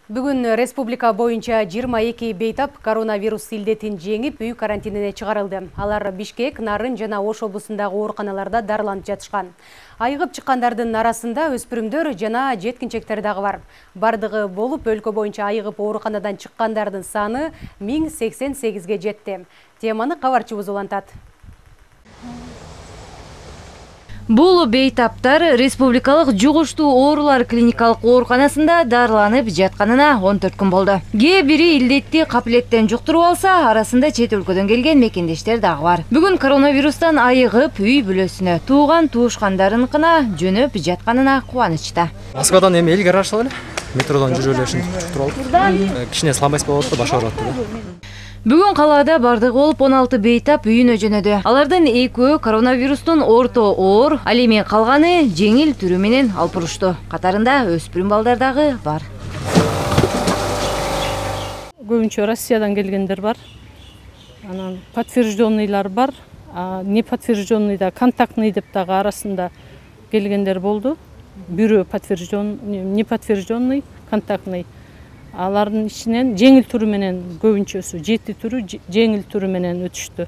Бүгүн республика боюнча 22 бейтап коронавирус илдетин жеңип, үй карантинине чыгарылды. Алар Бишкек, Нарын жана Ош облусундагы ооруканаларда дарыланып жатышкан. Айыгып чыккандардын арасында өспүрүмдөр жана жеткинчектер дагы бар. Бардыгы болуп, өлкө боюнча айыгып ооруканадан чыккандардын саны 1088ге жетти. Теманы кабарчыбыз улантат. Бул бейтаптар республикалык жугуштуу оорулар клиникалык ооруканасында дарыланып жатканына 14 күн болду. Кээ бири илдетти капилеттен жуктуруп алса, арасында чет өлкөдөн келген мекендештер дагы бар. Бүгүн коронавирустан айыгып, үй бүлөсүнө, тууган-туушкандарыныкына жөнөп жатканына кубанычта. Москвадан эми элге арашып эле, метродон жүрүп эле ушинтип жуктуруп алып. Кичине слабость болуп атты, баш ооруп атты. Бүгүн калаада бардыгы болуп 16 бейтап үйүнө жөнөдү. Алардын экөө коронавирустун орто оор, ал эми калганы жеңил түрү менен алпурушту. Катарында өспүрүм балдар дагы бар. Көбүнчө Россиядан келгендер бар. Анан подтвержденныйлар бар. Не подтвержденный да, контактный деп дагы арасында келгендер болду. Бирөө подтвержденный, не подтвержденный, контактный. Алардын ичинен жеңил түрү менен көбүнчөсү 7 түрү жеңил түрү менен өтүштү.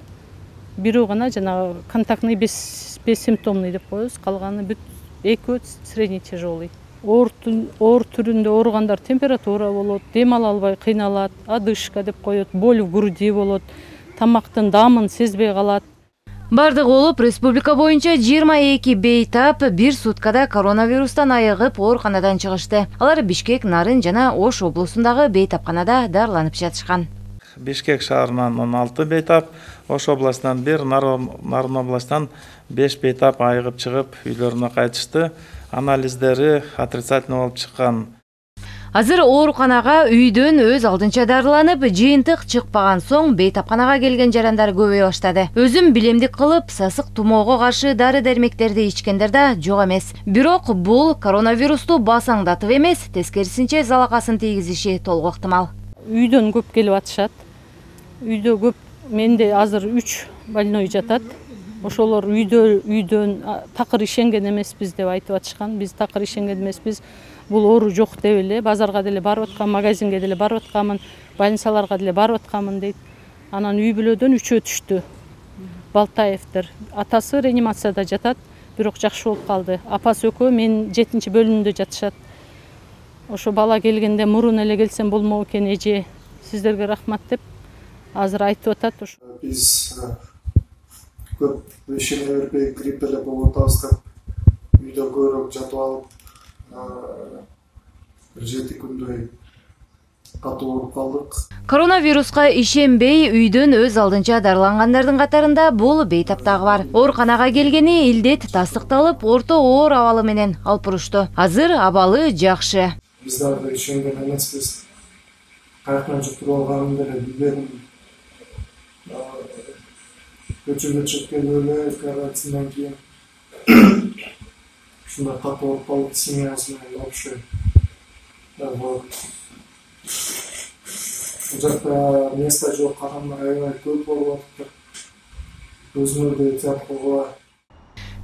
Бирөө гана жанагы контактный бессимптомный деп коебуз, калганы бүт экөө средний тяжелый. Оор түрүндө ооругандар температура болот, дем ала албай кыйналат, одышка деп коет, боль в груди болот, тамактын дамын сезбей калат. Бардыгы болуп, республика боюнча 22 бейтап бир суткада коронавирустан айыгып ооруканадан чыгышты. Алар Бишкек, Нарын жана Ош облусундагы бейтапканада дарыланып жатышкан. Бишкек шаарынан 16 бейтап, Ош областынан 1, Нарын областынан 5 бейтап айыгып чыгып үйлөрүнө кайтышты. Анализдери отрицательный болуп чыккан. Азыр ооруканага үйдөн өз алдынча дарыланып, жыйынтык чыкпаган соң бейтапканага келген жарандар көбөйө баштады. Өзүм билемдик кылып, сасык тумоого каршы дары-дармектерди ичкендер да жок эмес. Бирок бул коронавирусту басаңдатып эмес, тескерисинче залакасын тийгизиши толук ыктымал. Үйдөн көп келип атышат. Үйдө көп, менде азыр 3 больной жатат. Ошолор үйдөн такыр ишенген эмеспиз деп айтып атышкан. Биз такыр ишенген эмеспиз. Бул оору жок деп эле, базарга деле барып аткам, магазинге деле барып аткамын, больницаларга деле барып аткамын дейт. Анан үй бүлөдөн 3 түштү. Балтаевдер. Атасы реанимацияда жатат, бирок жакшы болуп калды. Апасы экөө мен 7-бөлүмдө жатышат. Ошо бала келгенде мурун эле келсем болмок экен, эже, сиздерге рахмат деп азыр айтып атат. Биз көп ишене бербей грипп эле болуп атабыз деп үйдө көбүрөөк жатып алып 7 күндөй катуу ооруп калдык. Коронавируска ишенбей үйдөн өз алдынча дарылангандардын катарында бул бейтап дагы бар. Ооруканага келгени илдет тастыкталып, орто оор абалы менен алпурушту. Азыр абалы жакшы. Биз дагы ишенген эмеспиз. Каяктан жуктуруп алганын деле билбедим. Көчөгө чыгып келип эле карантинден кийин ушундай катуу ооруп калып, семьясы менен вообще жакта место жок, адамдар аябай көп болуп атыптыр. Өзүмөрдү эhtiyat кылгыла.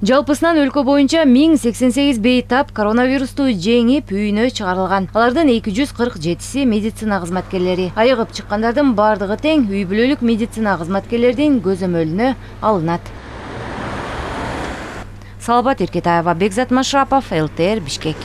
Жалпысынан өлкө боюнча 1088 бейтап коронавирусту жеңип үйүнө чыгарылган. Алардын 247си медицина кызматкерлери. Айыгып чыккандардын бардыгы тең үй бүлөлүк медицина кызматкерлердин көзөмөлүнө алынат. Салбат Эркетаева, Бекзат Машрапов, ЛТР, Бишкек.